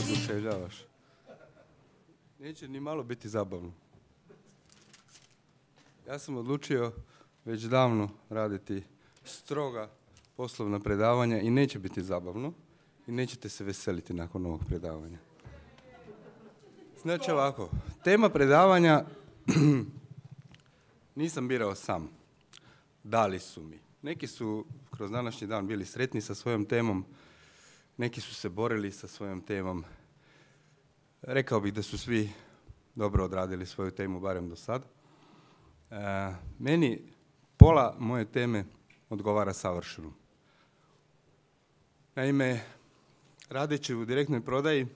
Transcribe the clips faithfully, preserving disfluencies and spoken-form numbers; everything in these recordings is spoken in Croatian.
oduševljavaš. Neće ni malo biti zabavno. Ja sam odlučio već davno raditi stroga poslovna predavanja i neće biti zabavno i nećete se veseliti nakon ovog predavanja. Znači ovako, tema predavanja nisam birao sam. Dali su mi. Neki su kroz današnji dan bili sretni sa svojom temom, neki su se borili sa svojom temom. Rekao bih da su svi dobro odradili svoju temu, barem do sad. E, meni pola moje teme odgovara savršeno. Naime, radeći u direktnoj prodaji,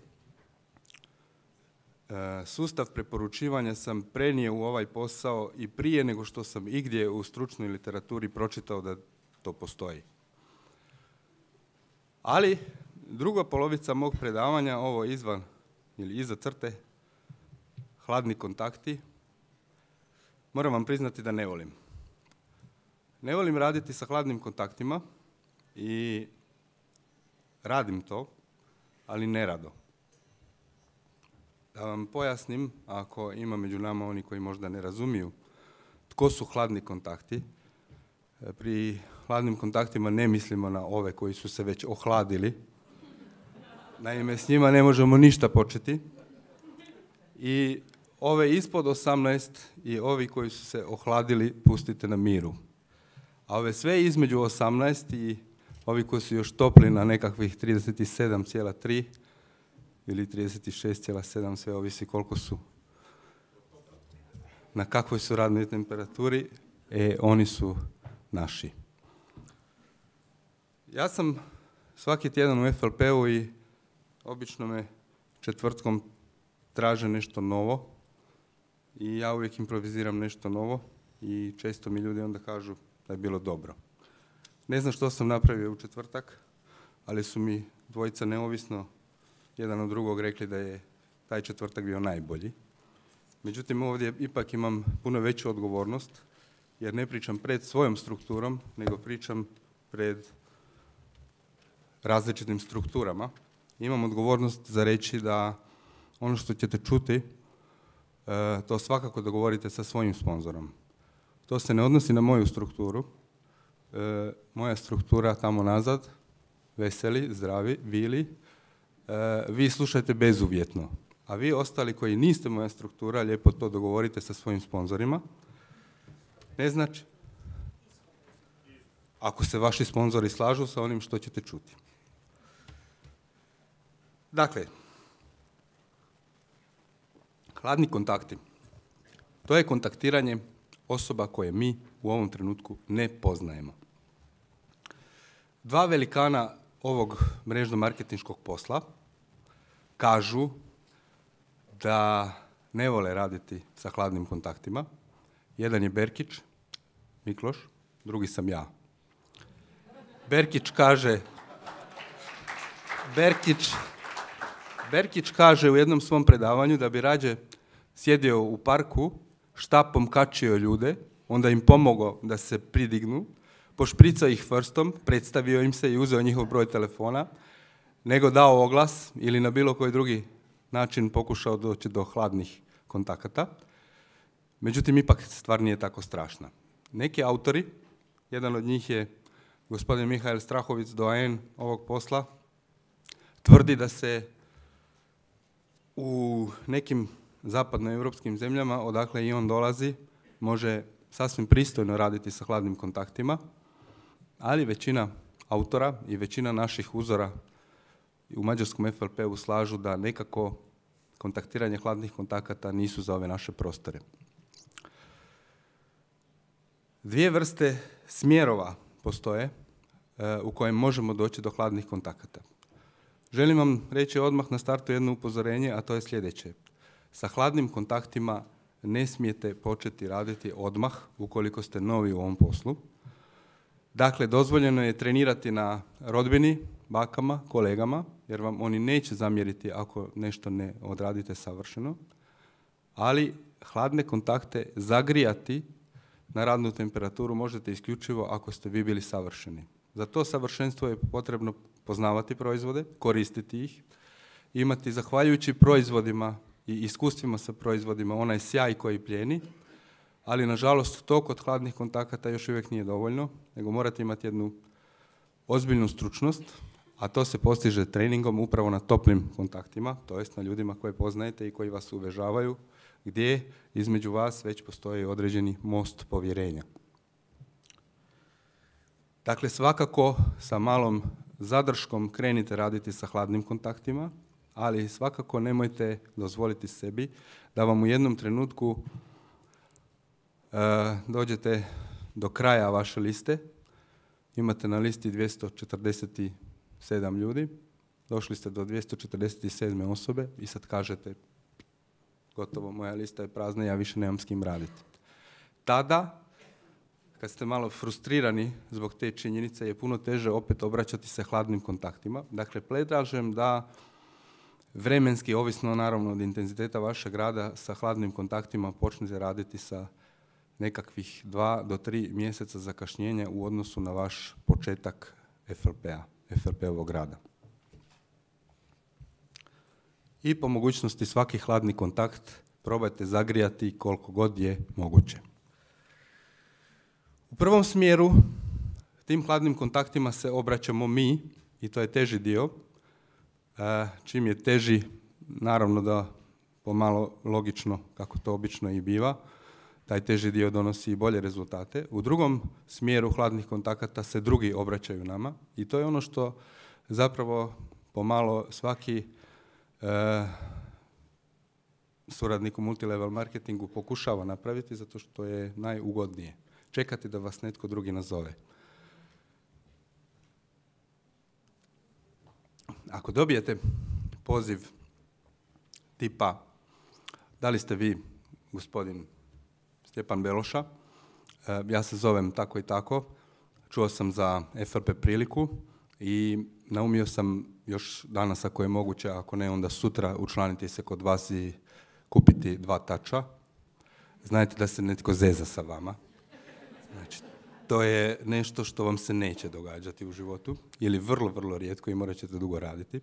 e, sustav preporučivanja sam prenio u ovaj posao i prije nego što sam igdje u stručnoj literaturi pročitao da to postoji. Ali druga polovica mog predavanja, ovo izvan ili iza crte, hladni kontakti, moram vam priznati da ne volim. Ne volim raditi sa hladnim kontaktima i radim to, ali nerado. Da vam pojasnim, ako ima među nama oni koji možda ne razumiju tko su hladni kontakti, pri hladnim kontaktima ne mislimo na ove koji su se već ohladili. Naime, s njima ne možemo ništa početi. I ove ispod osamnaest i ovi koji su se ohladili pustite na miru. A ove sve između osamnaest i ovi koji su još topli na nekakvih trideset sedam zarez tri ili trideset šest zarez sedam, sve ovisi koliko su, na kakvoj su radnoj temperaturi, e, oni su naši. Ja sam svaki tjedan u F L P-u i obično me četvrtkom traže nešto novo i ja uvijek improviziram nešto novo i često mi ljudi onda kažu da je bilo dobro. Ne znam što sam napravio u četvrtak, ali su mi dvojica neovisno jedan od drugog rekli da je taj četvrtak bio najbolji. Međutim, ovdje ipak imam puno veću odgovornost jer ne pričam pred svojom strukturom, nego pričam pred različitim strukturama. Imam odgovornost za reći da ono što ćete čuti, to svakako dogovorite sa svojim sponzorom. To se ne odnosi na moju strukturu. Moja struktura tamo nazad, veseli, zdravi, bili, vi slušajte bezuvjetno. A vi ostali koji niste moja struktura, lijepo to dogovorite sa svojim sponzorima. Ne znači, ako se vaši sponzori slažu sa onim što ćete čuti. Dakle, hladni kontakti. To je kontaktiranje osoba koje mi u ovom trenutku ne poznajemo. Dva velikana ovog mrežno-marketinškog posla kažu da ne vole raditi sa hladnim kontaktima. Jedan je Berkić, Mikloš, drugi sam ja. Berkić kaže, Berkić, Berkić kaže u jednom svom predavanju da bi rađe sjedio u parku, štapom kačio ljude, onda im pomogao da se pridignu, pošpricao ih vrstom, predstavio im se i uzeo njihov broj telefona, nego dao oglas ili na bilo koji drugi način pokušao doći do hladnih kontakata. Međutim, ipak stvar nije tako strašna. Neki autori, jedan od njih je gospodin Mihael Strahovic, doajen ovog posla, tvrdi da se u nekim zapadnoevropskim zemljama, odakle i on dolazi, može sasvim pristojno raditi sa hladnim kontaktima, ali većina autora i većina naših uzora u mađarskom F L P-u slažu da nekako kontaktiranje hladnih kontakata nisu za ove naše prostore. Dvije vrste smjerova postoje u kojem možemo doći do hladnih kontakata. Želim vam reći odmah na startu jedno upozorenje, a to je sljedeće. Sa hladnim kontaktima ne smijete početi raditi odmah ukoliko ste novi u ovom poslu. Dakle, dozvoljeno je trenirati na rodbini, bakama, kolegama, jer vam oni neće zamjeriti ako nešto ne odradite savršeno, ali hladne kontakte zagrijati na radnu temperaturu možete isključivo ako ste vi bili savršeni. Za to savršenstvo je potrebno poznavati proizvode, koristiti ih, imati, zahvaljujući proizvodima i iskustvima sa proizvodima, onaj sjaj koji plijeni, ali nažalost to kod hladnih kontakata još uvijek nije dovoljno, nego morate imati jednu ozbiljnu stručnost, a to se postiže treningom upravo na toplim kontaktima, to jest na ljudima koje poznajete i koji vas uvežavaju, gdje između vas već postoji određeni most povjerenja. Dakle, svakako sa malom zadrškom krenite raditi sa hladnim kontaktima, ali svakako nemojte dozvoliti sebi da vam u jednom trenutku e, dođete do kraja vaše liste. Imate na listi dvjesto četrdeset sedam ljudi, došli ste do dvjesto četrdeset sedme osobe i sad kažete gotovo, moja lista je prazna, ja više nemam s kim raditi. Tada, kad ste malo frustrirani zbog te činjenice, je puno teže opet obraćati se hladnim kontaktima. Dakle, predlažem da vremenski, ovisno naravno od intenziteta vašeg rada, sa hladnim kontaktima počnete raditi sa nekakvih dva do tri mjeseca zakašnjenja u odnosu na vaš početak F L P-a, F L P-ovog rada. I po mogućnosti svaki hladni kontakt probajte zagrijati koliko god je moguće. U prvom smjeru tim hladnim kontaktima se obraćamo mi i to je teži dio. Čim je teži, naravno da pomalo logično, kako to obično i biva, taj teži dio donosi i bolje rezultate. U drugom smjeru hladnih kontakata se drugi obraćaju nama i to je ono što zapravo pomalo svaki e, suradnik u multilevel marketingu pokušava napraviti zato što je najugodnije. Čekati da vas netko drugi nazove. Ako dobijete poziv tipa da li ste vi gospodin Stjepan Beloša, ja se zovem tako i tako, čuo sam za F L P priliku i naumio sam još danas ako je moguće, ako ne onda sutra učlaniti se kod vas i kupiti dva tača. Znajte da se netko zeza sa vama. Znači, to je nešto što vam se neće događati u životu ili vrlo, vrlo rijetko i morat ćete dugo raditi.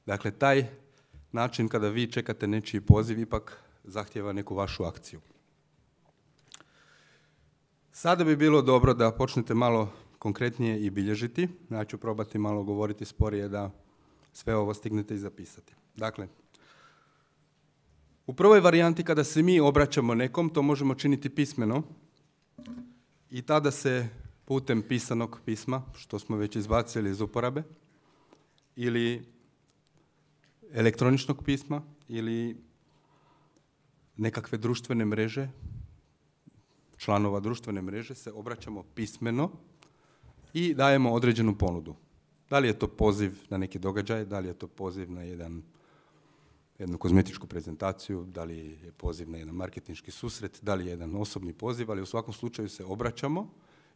Dakle, taj način kada vi čekate nečiji poziv ipak zahtjeva neku vašu akciju. Sada bi bilo dobro da počnete malo konkretnije i bilježiti. Ja ću probati malo govoriti sporije da sve ovo stignete i zapisati. Dakle, u prvoj varijanti kada se mi obraćamo nekom, to možemo činiti pismeno i tada se putem pisanog pisma, što smo već izbacili iz uporabe, ili elektroničnog pisma, ili nekakve društvene mreže, članova društvene mreže, se obraćamo pismeno i dajemo određenu ponudu. Da li je to poziv na neki događaj, da li je to poziv na jedan, jednu kozmetičku prezentaciju, da li je poziv na jedan marketinški susret, da li je jedan osobni poziv, ali u svakom slučaju se obraćamo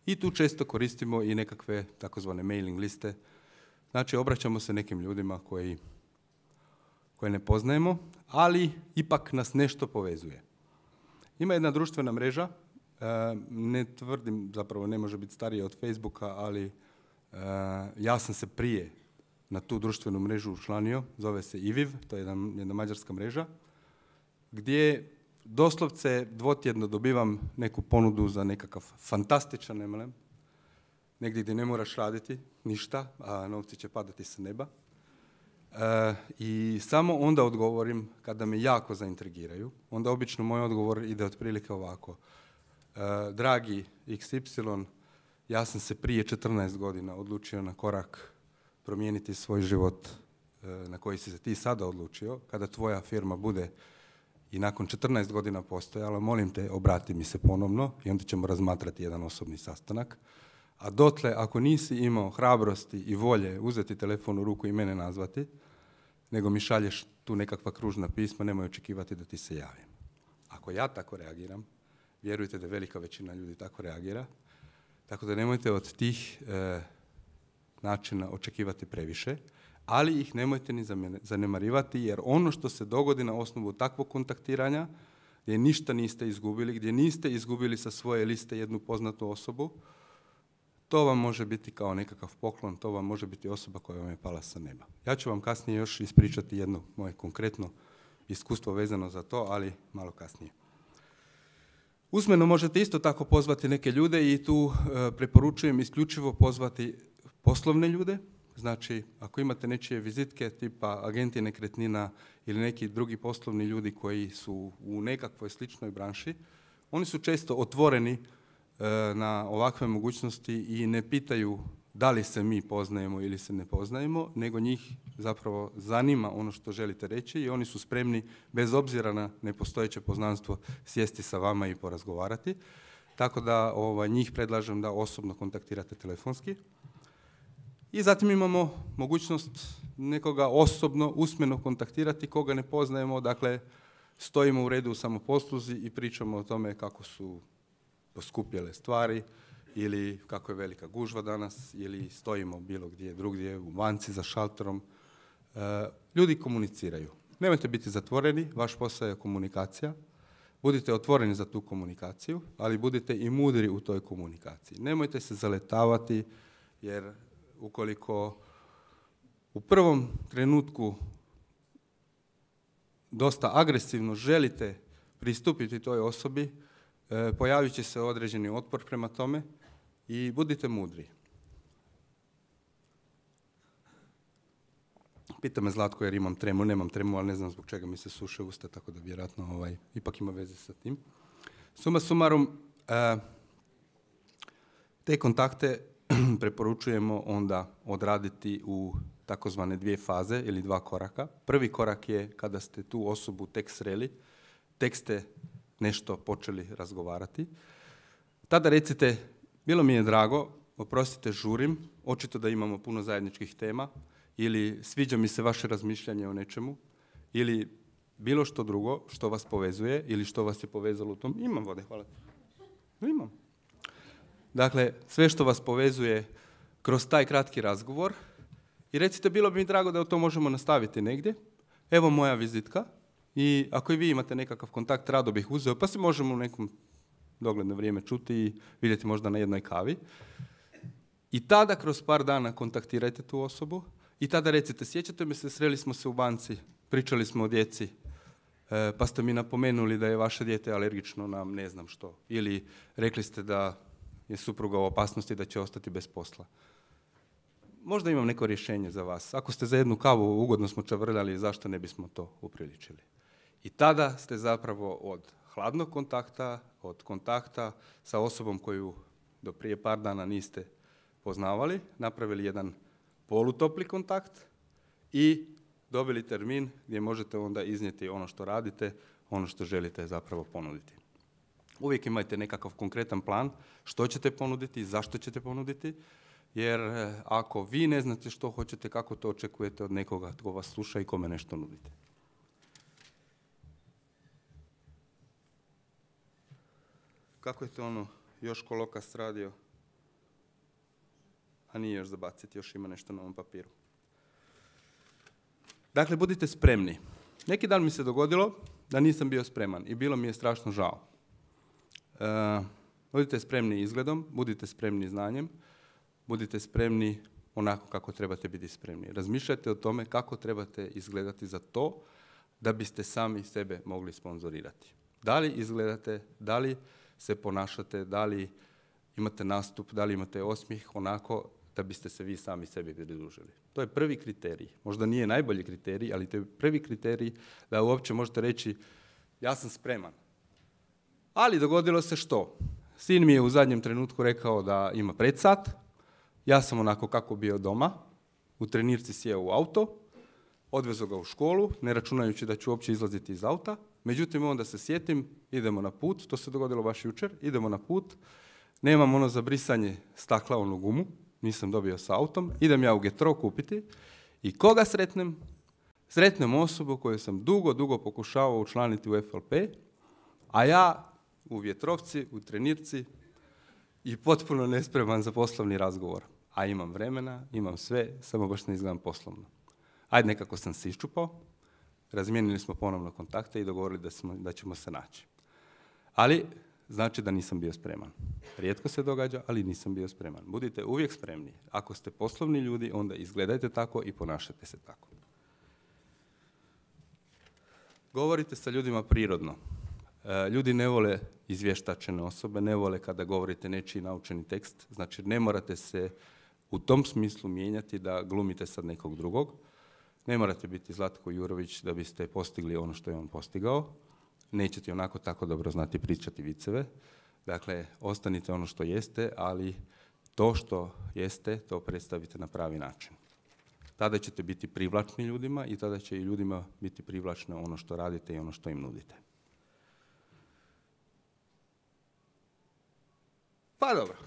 i tu često koristimo i nekakve takozvane mailing liste. Znači, obraćamo se nekim ljudima koji, koje ne poznajemo, ali ipak nas nešto povezuje. Ima jedna društvena mreža, ne tvrdim, zapravo ne može biti starija od Facebooka, ali ja sam se prije na tu društvenu mrežu učlanio, zove se I V I V, to je jedna, jedna mađarska mreža, gdje doslovce dvotjedno dobivam neku ponudu za nekakav fantastičan M L M, negdje gdje ne moraš raditi ništa, a novci će padati sa neba. E, I samo onda odgovorim kada me jako zaintrigiraju. Onda obično moj odgovor ide otprilike ovako. E, dragi X Y, ja sam se prije četrnaest godina odlučio na korak promijeniti svoj život e, na koji si se ti sada odlučio. Kada tvoja firma bude i nakon četrnaest godina postojala, molim te, obrati mi se ponovno i onda ćemo razmatrati jedan osobni sastanak. A dotle, ako nisi imao hrabrosti i volje uzeti telefon u ruku i mene nazvati, nego mi šalješ tu nekakva kružna pisma, nemoj očekivati da ti se javim. Ako ja tako reagiram, vjerujte da velika većina ljudi tako reagira, tako da nemojte od tih e, načina očekivati previše, ali ih nemojte ni zanemarivati, jer ono što se dogodi na osnovu takvog kontaktiranja, gdje ništa niste izgubili, gdje niste izgubili sa svoje liste jednu poznatu osobu, to vam može biti kao nekakav poklon, to vam može biti osoba koja vam je pala sa neba. Ja ću vam kasnije još ispričati jedno moje konkretno iskustvo vezano za to, ali malo kasnije. Usmeno možete isto tako pozvati neke ljude i tu e, preporučujem isključivo pozvati poslovne ljude. Znači, ako imate nečije vizitke tipa agenti nekretnina ili neki drugi poslovni ljudi koji su u nekakvoj sličnoj branši, oni su često otvoreni e, na ovakve mogućnosti i ne pitaju da li se mi poznajemo ili se ne poznajemo, nego njih zapravo zanima ono što želite reći i oni su spremni, bez obzira na nepostojeće poznanstvo, sjesti sa vama i porazgovarati. Tako da ovaj, njih predlažem da osobno kontaktirate telefonski. I zatim imamo mogućnost nekoga osobno, usmeno kontaktirati koga ne poznajemo, dakle stojimo u redu u samoposluzi i pričamo o tome kako su poskupjele stvari ili kako je velika gužva danas ili stojimo bilo gdje drugdje u banci za šalterom. E, ljudi komuniciraju. Nemojte biti zatvoreni, vaš posao je komunikacija. Budite otvoreni za tu komunikaciju, ali budite i mudri u toj komunikaciji. Nemojte se zaletavati jer ukoliko u prvom trenutku dosta agresivno želite pristupiti toj osobi, e, pojavit će se određeni otpor prema tome i budite mudri. Pita me Zlatko jer imam tremu, nemam tremu, ali ne znam zbog čega mi se suše usta, tako da vjerojatno ovaj, ipak ima veze sa tim. Suma sumarum, e, te kontakte preporučujemo onda odraditi u takozvane dvije faze ili dva koraka. Prvi korak je kada ste tu osobu tek sreli, tek ste nešto počeli razgovarati. Tada recite, bilo mi je drago, oprostite, žurim, očito da imamo puno zajedničkih tema, ili sviđa mi se vaše razmišljanje o nečemu, ili bilo što drugo što vas povezuje ili što vas je povezalo u tom. Imam vode, hvala. Imam. Dakle, sve što vas povezuje kroz taj kratki razgovor i recite, bilo bi mi drago da to možemo nastaviti negdje. Evo moja vizitka i ako i vi imate nekakav kontakt, rado bih uzeo, pa se možemo u nekom dogledno vrijeme čuti i vidjeti možda na jednoj kavi. I tada kroz par dana kontaktirajte tu osobu i tada recite, sjećate me se, sreli smo se u banci, pričali smo o djeci, pa ste mi napomenuli da je vaše dijete alergično na ne znam što. Ili rekli ste da je supruga u opasnosti da će ostati bez posla. Možda imam neko rješenje za vas. Ako ste za jednu kavu ugodno smo čavrljali, zašto ne bismo to upriličili? I tada ste zapravo od hladnog kontakta, od kontakta sa osobom koju do prije par dana niste poznavali, napravili jedan polutopli kontakt i dobili termin gdje možete onda iznijeti ono što radite, ono što želite zapravo ponuditi. Uvijek imajte nekakav konkretan plan što ćete ponuditi i zašto ćete ponuditi, jer ako vi ne znate što hoćete, kako to očekujete od nekoga tko vas sluša i kome nešto nudite. Kako je to ono, još kolokas radio? A nije još zabaciti, još ima nešto na ovom papiru. Dakle, budite spremni. Neki dan mi se dogodilo da nisam bio spreman i bilo mi je strašno žao. Uh, budite spremni izgledom, budite spremni znanjem, budite spremni onako kako trebate biti spremni. Razmišljajte o tome kako trebate izgledati za to da biste sami sebe mogli sponzorirati. Da li izgledate, da li se ponašate, da li imate nastup, da li imate osmijeh onako da biste se vi sami sebi pridružili. To je prvi kriterij. Možda nije najbolji kriterij, ali to je prvi kriterij da uopće možete reći ja sam spreman. Ali dogodilo se što? Sin mi je u zadnjem trenutku rekao da ima predsat, ja sam onako kako bio doma, u trenirci sjeo u auto, odvezo ga u školu, ne računajući da ću uopće izlaziti iz auta, međutim onda se sjetim, idemo na put, to se dogodilo baš jučer, idemo na put, nemam ono za brisanje stakla, onu gumu, nisam dobio sa autom, idem ja u Getro kupiti i koga sretnem? Sretnem osobu koju sam dugo, dugo pokušavao učlaniti u F L P, a ja u vjetrovci, u trenirci i potpuno nespreman za poslovni razgovor. A imam vremena, imam sve, samo baš ne izgledam poslovno. Ajde, nekako sam se iščupao, razmijenili smo ponovno kontakte i dogovorili da, smo, da ćemo se naći. Ali znači da nisam bio spreman. Rijetko se događa, ali nisam bio spreman. Budite uvijek spremni. Ako ste poslovni ljudi, onda izgledajte tako i ponašajte se tako. Govorite sa ljudima prirodno. Ljudi ne vole izvještačene osobe, ne vole kada govorite nečiji naučeni tekst, znači ne morate se u tom smislu mijenjati da glumite sad nekog drugog. Ne morate biti Zlatko Jurović da biste postigli ono što je on postigao. Nećete onako tako dobro znati pričati viceve. Dakle, ostanite ono što jeste, ali to što jeste, to predstavite na pravi način. Tada ćete biti privlačni ljudima i tada će i ljudima biti privlačno ono što radite i ono što im nudite. Pa dobro,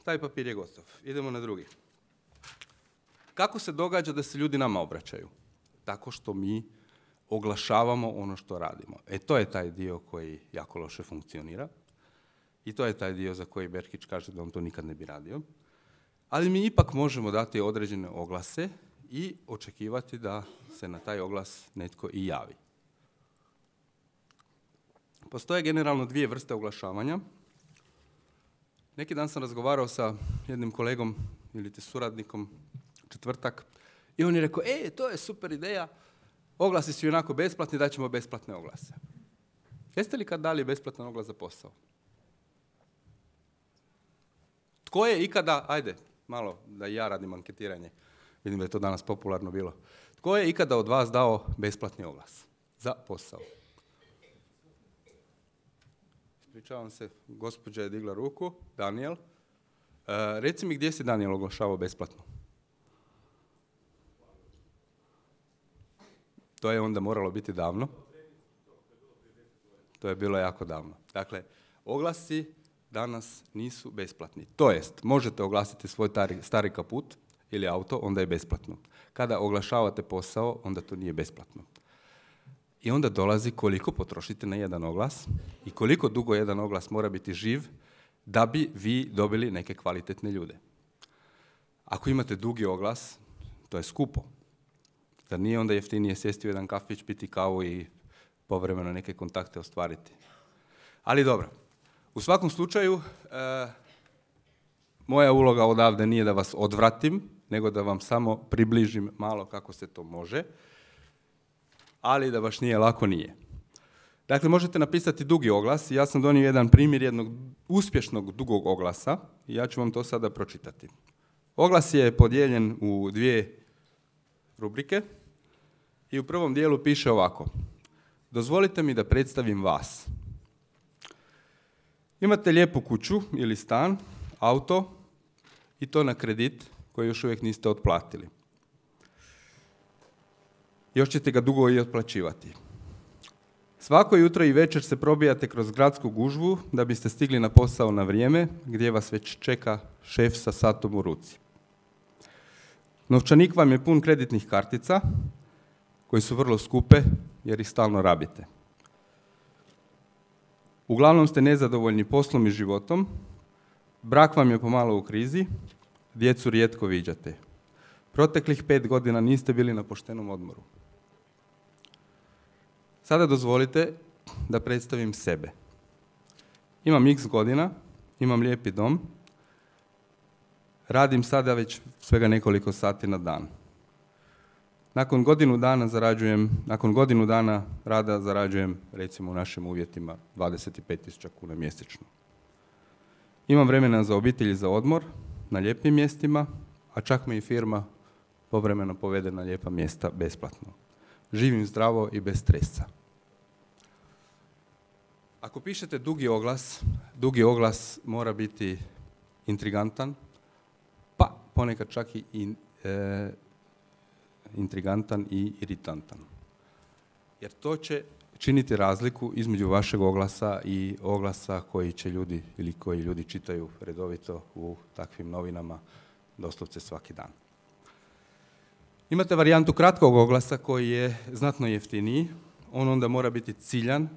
taj papir je gotov. Idemo na drugi. Kako se događa da se ljudi nama obraćaju? Tako što mi oglašavamo ono što radimo. E to je taj dio koji jako loše funkcionira i to je taj dio za koji Berkić kaže da on to nikad ne bi radio. Ali mi ipak možemo dati određene oglase i očekivati da se na taj oglas netko i javi. Postoje generalno dvije vrste oglašavanja. Neki dan sam razgovarao sa jednim kolegom ili te suradnikom, četvrtak, i on je rekao, e, to je super ideja, oglasi su onako besplatni, daćemo besplatne oglase. Jeste li kad dali besplatan oglas za posao? Tko je ikada, ajde, malo da i ja radim anketiranje, vidim da je to danas popularno bilo, tko je ikada od vas dao besplatni oglas za posao? Ispričavam se, gospođa je digla ruku, Daniel. E, reci mi gdje si Daniel oglašavao besplatno? To je onda moralo biti davno. To je bilo jako davno. Dakle, oglasi danas nisu besplatni. To jest, možete oglasiti svoj tari, stari kaput ili auto, onda je besplatno. Kada oglašavate posao, onda to nije besplatno. I onda dolazi koliko potrošite na jedan oglas i koliko dugo jedan oglas mora biti živ da bi vi dobili neke kvalitetne ljude. Ako imate dugi oglas, to je skupo. Zar nije onda jeftinije sjesti u jedan kafić, piti kavu i povremeno neke kontakte ostvariti? Ali dobro, u svakom slučaju, e, moja uloga odavde nije da vas odvratim, nego da vam samo približim malo kako se to može, ali da baš nije lako, nije. Dakle, možete napisati dugi oglas. Ja sam donio jedan primjer jednog uspješnog dugog oglasa i ja ću vam to sada pročitati. Oglas je podijeljen u dvije rubrike i u prvom dijelu piše ovako. Dozvolite mi da predstavim vas. Imate lijepu kuću ili stan, auto i to na kredit koji još uvijek niste otplatili. Još ćete ga dugo i otplaćivati. Svako jutro i večer se probijate kroz gradsku gužvu da biste stigli na posao na vrijeme gdje vas već čeka šef sa satom u ruci. Novčanik vam je pun kreditnih kartica koji su vrlo skupe jer ih stalno rabite. Uglavnom ste nezadovoljni poslom i životom, brak vam je pomalo u krizi, djecu rijetko viđate. Proteklih pet godina niste bili na poštenom odmoru. Sada dozvolite da predstavim sebe. Imam x godina, imam lijepi dom, radim sada već svega nekoliko sati na dan. Nakon godinu dana zarađujem, nakon godinu dana rada zarađujem, recimo u našim uvjetima, dvadeset pet tisuća kuna mjesečno. Imam vremena za obitelj i za odmor, na lijepim mjestima, a čak me i firma povremeno povede na lijepa mjesta besplatno. Živim zdravo i bez stresa. Ako pišete dugi oglas, dugi oglas mora biti intrigantan, pa ponekad čak i e, intrigantan i iritantan. Jer to će činiti razliku između vašeg oglasa i oglasa koji će ljudi ili koji ljudi čitaju redovito u takvim novinama doslovce svaki dan. Imate varijantu kratkog oglasa koji je znatno jeftiniji. On onda mora biti ciljan,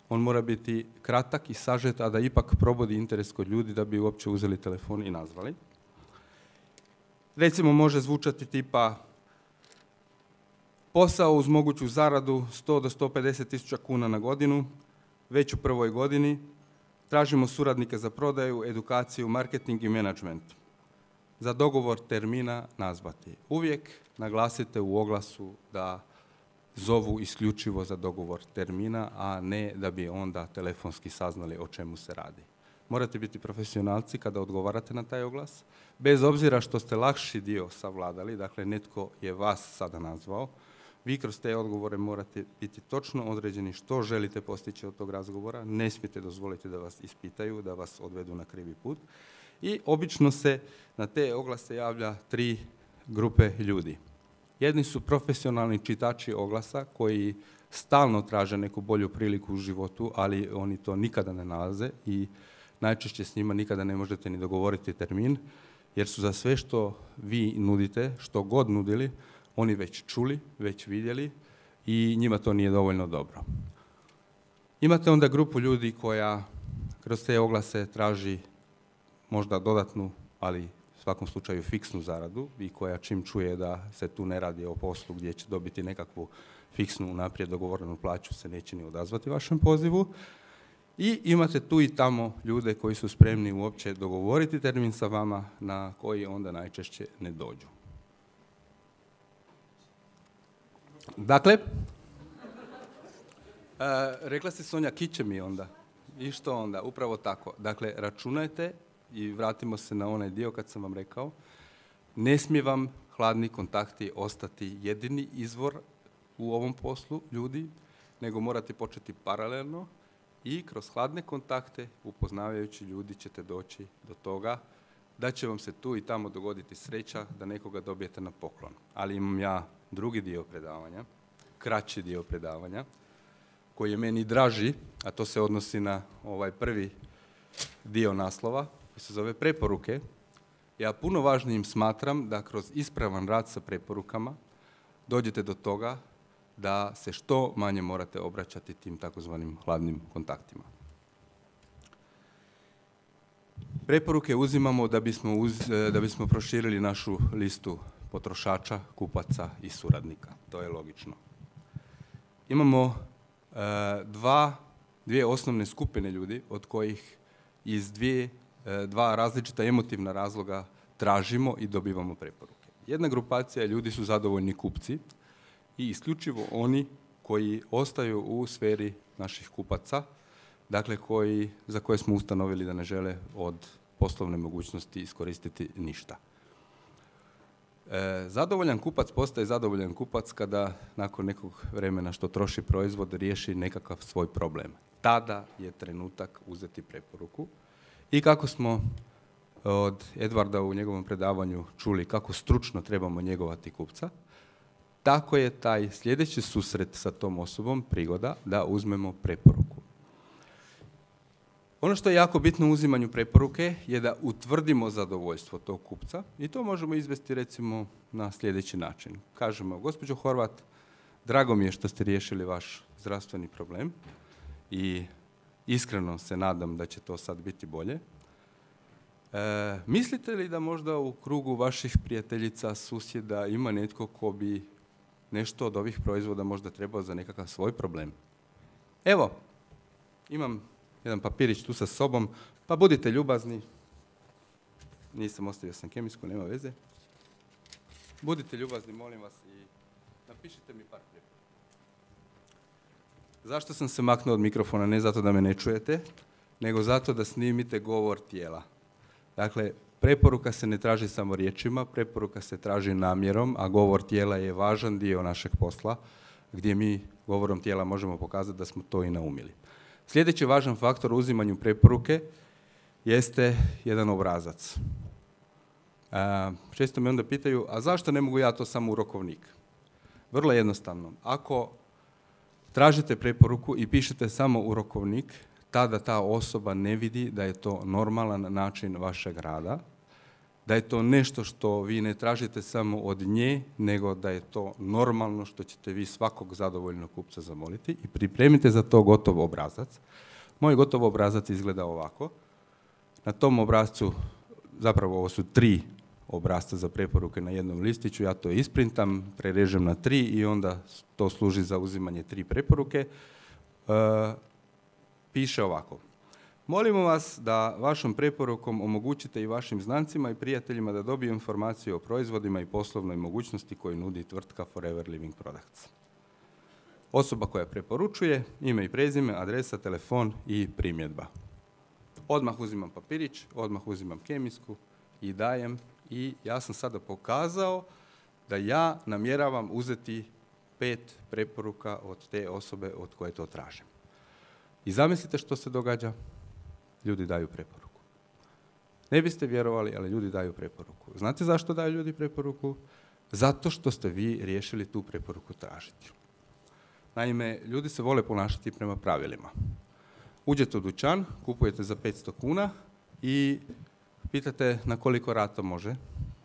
on mora biti kratak i sažet, a da ipak probudi interes kod ljudi da bi uopće uzeli telefon i nazvali. Recimo može zvučati tipa posao uz moguću zaradu sto do sto pedeset tisuća kuna na godinu, već u prvoj godini, tražimo suradnike za prodaju, edukaciju, marketing i menadžment. Za dogovor termina nazvati. Uvijek naglasite u oglasu da zovu isključivo za dogovor termina, a ne da bi onda telefonski saznali o čemu se radi. Morate biti profesionalci kada odgovarate na taj oglas, bez obzira što ste lakši dio savladali, dakle netko je vas sada nazvao, vi kroz te odgovore morate biti točno određeni što želite postići od tog razgovora, ne smijete dozvoliti da vas ispitaju, da vas odvedu na krivi put. I obično se na te oglase javlja tri grupe ljudi. Jedni su profesionalni čitači oglasa koji stalno traže neku bolju priliku u životu, ali oni to nikada ne nalaze i najčešće s njima nikada ne možete ni dogovoriti termin, jer su za sve što vi nudite, što god nudili, oni već čuli, već vidjeli i njima to nije dovoljno dobro. Imate onda grupu ljudi koja kroz te oglase traži možda dodatnu, ali u svakom slučaju fiksnu zaradu i koja čim čuje da se tu ne radi o poslu gdje će dobiti nekakvu fiksnu unaprijed dogovorenu plaću, se neće ni odazvati vašem pozivu. I imate tu i tamo ljude koji su spremni uopće dogovoriti termin sa vama na koji onda najčešće ne dođu. Dakle, e, rekla si Sonja, kiće mi onda. I što onda? Upravo tako. Dakle, računajte i vratimo se na onaj dio kad sam vam rekao, ne smije vam hladni kontakti ostati jedini izvor u ovom poslu ljudi, nego morate početi paralelno i kroz hladne kontakte, upoznavajući ljudi, ćete doći do toga da će vam se tu i tamo dogoditi sreća da nekoga dobijete na poklon. Ali imam ja drugi dio predavanja, kraći dio predavanja, koji je meni draži, a to se odnosi na ovaj prvi dio naslova, koji se zove preporuke. Ja puno važnijim smatram da kroz ispravan rad sa preporukama dođete do toga da se što manje morate obraćati tim takozvanim hladnim kontaktima. Preporuke uzimamo da bismo, uz, da bismo proširili našu listu potrošača, kupaca i suradnika. To je logično. Imamo e, dva, dvije osnovne skupine ljudi od kojih iz dvije, e, dva različita emotivna razloga tražimo i dobivamo preporuke. Jedna grupacija ljudi su zadovoljni kupci i isključivo oni koji ostaju u sferi naših kupaca, dakle koji, za koje smo ustanovili da ne žele od poslovne mogućnosti iskoristiti ništa. E, zadovoljan kupac postaje zadovoljan kupac kada nakon nekog vremena što troši proizvod riješi nekakav svoj problem. Tada je trenutak uzeti preporuku i kako smo od Edvarda u njegovom predavanju čuli kako stručno trebamo njegovati kupca, tako je taj sljedeći susret sa tom osobom prigoda da uzmemo preporuku. Ono što je jako bitno u uzimanju preporuke je da utvrdimo zadovoljstvo tog kupca i to možemo izvesti recimo na sljedeći način. Kažemo, gospođo Horvat, drago mi je što ste riješili vaš zdravstveni problem i iskreno se nadam da će to sad biti bolje. E, mislite li da možda u krugu vaših prijateljica, susjeda ima netko ko bi nešto od ovih proizvoda možda trebao za nekakav svoj problem? Evo, imam jedan papirić tu sa sobom, pa budite ljubazni. Nisam, ostavio sam kemijsku, nema veze. Budite ljubazni, molim vas, i napišite mi par preporuka. Zašto sam se maknuo od mikrofona? Ne zato da me ne čujete, nego zato da snimite govor tijela. Dakle, preporuka se ne traži samo riječima, preporuka se traži namjerom, a govor tijela je važan dio našeg posla, gdje mi govorom tijela možemo pokazati da smo to i naumili. Sljedeći važan faktor u uzimanju preporuke jeste jedan obrazac. A, često me onda pitaju, a zašto ne mogu ja to samo u rokovnik? Vrlo jednostavno. Ako tražite preporuku i pišete samo u rokovnik, tada ta osoba ne vidi da je to normalan način vašeg rada, da je to nešto što vi ne tražite samo od nje, nego da je to normalno što ćete vi svakog zadovoljnog kupca zamoliti i pripremite za to gotov obrazac. Moj gotov obrazac izgleda ovako. Na tom obrazcu, zapravo ovo su tri obrazca za preporuke na jednom listiću, ja to isprintam, prerežem na tri i onda to služi za uzimanje tri preporuke. E, piše ovako. Molimo vas da vašom preporukom omogućite i vašim znancima i prijateljima da dobiju informaciju o proizvodima i poslovnoj mogućnosti koju nudi tvrtka Forever Living Products. Osoba koja preporučuje, ime i prezime, adresa, telefon i primjedba. Odmah uzimam papirić, odmah uzimam kemijsku i dajem i ja sam sada pokazao da ja namjeravam uzeti pet preporuka od te osobe od koje to tražim. I zamislite što se događa? Ljudi daju preporuku. Ne biste vjerovali, ali ljudi daju preporuku. Znate zašto daju ljudi preporuku? Zato što ste vi riješili tu preporuku tražiti. Naime, ljudi se vole ponašati prema pravilima. Uđete u dućan, kupujete za petsto kuna i pitate na koliko rata može,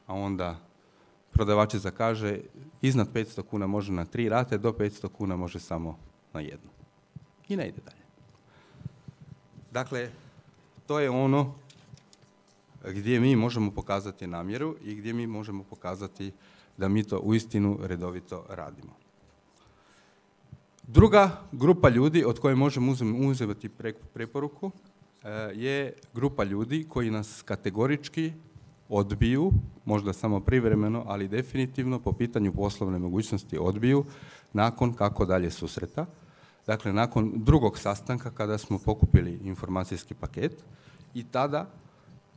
a onda prodavačica zakaže iznad petsto kuna može na tri rate, do petsto kuna može samo na jednu. I ne ide dalje. Dakle, to je ono gdje mi možemo pokazati namjeru i gdje mi možemo pokazati da mi to uistinu redovito radimo. Druga grupa ljudi od koje možemo uzeti preporuku je grupa ljudi koji nas kategorički odbiju, možda samo privremeno, ali definitivno po pitanju poslovne mogućnosti odbiju nakon kako dalje susreta. Dakle, nakon drugog sastanka kada smo pokupili informacijski paket i tada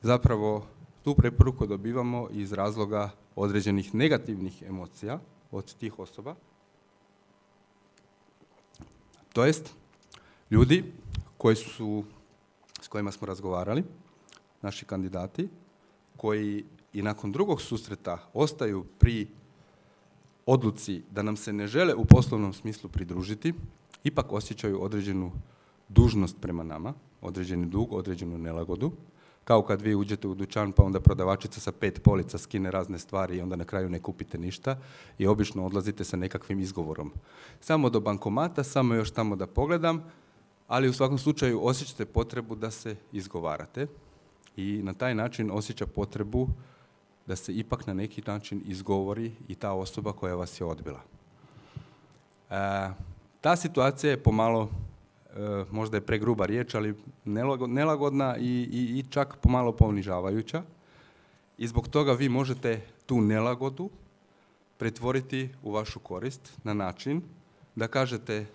zapravo tu preporuku dobivamo iz razloga određenih negativnih emocija od tih osoba. To jest, ljudi koji su, s kojima smo razgovarali, naši kandidati, koji i nakon drugog susreta ostaju pri odluci da nam se ne žele u poslovnom smislu pridružiti, ipak osjećaju određenu dužnost prema nama, određeni dug, određenu nelagodu, kao kad vi uđete u dućan pa onda prodavačica sa pet polica skine razne stvari i onda na kraju ne kupite ništa i obično odlazite sa nekakvim izgovorom. Samo do bankomata, samo još tamo da pogledam, ali u svakom slučaju osjećate potrebu da se izgovarate i na taj način osjeća potrebu da se ipak na neki način izgovori i ta osoba koja vas je odbila. E, ta situacija je pomalo, e, možda je pregruba riječ, ali nelagodna i, i, i čak pomalo ponižavajuća. I zbog toga vi možete tu nelagodu pretvoriti u vašu korist na način da kažete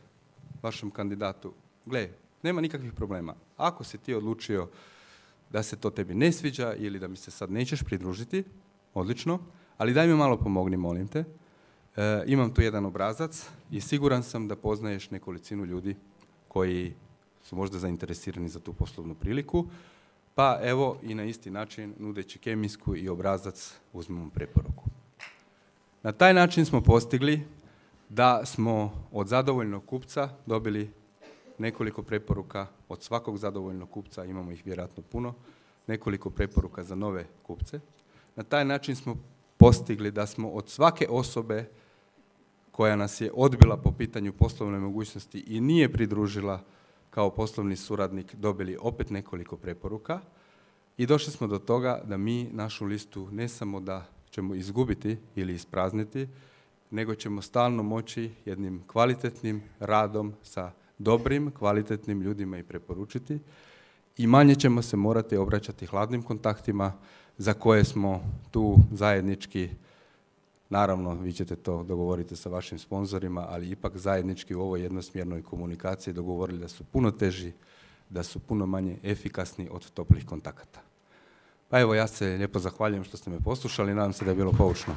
vašem kandidatu, gle, nema nikakvih problema. Ako si ti odlučio da se to tebi ne sviđa ili da mi se sad nećeš pridružiti, odlično, ali daj mi malo pomogni, molim te. E, imam tu jedan obrazac i siguran sam da poznaješ nekolicinu ljudi koji su možda zainteresirani za tu poslovnu priliku, pa evo i na isti način, nudeći kemijsku i obrazac, uzmemo preporuku. Na taj način smo postigli da smo od zadovoljnog kupca dobili nekoliko preporuka, od svakog zadovoljnog kupca, imamo ih vjerojatno puno, nekoliko preporuka za nove kupce. Na taj način smo postigli da smo od svake osobe koja nas je odbila po pitanju poslovne mogućnosti i nije pridružila kao poslovni suradnik dobili opet nekoliko preporuka i došli smo do toga da mi našu listu ne samo da ćemo izgubiti ili isprazniti, nego ćemo stalno moći jednim kvalitetnim radom sa dobrim, kvalitetnim ljudima i preporučiti i manje ćemo se morati obraćati hladnim kontaktima za koje smo tu zajednički, naravno vi ćete to dogovoriti sa vašim sponzorima, ali ipak zajednički u ovoj jednosmjernoj komunikaciji dogovorili da su puno teži, da su puno manje efikasni od toplih kontakata. Pa evo, ja se lijepo zahvaljujem što ste me poslušali, nadam se da je bilo poučno.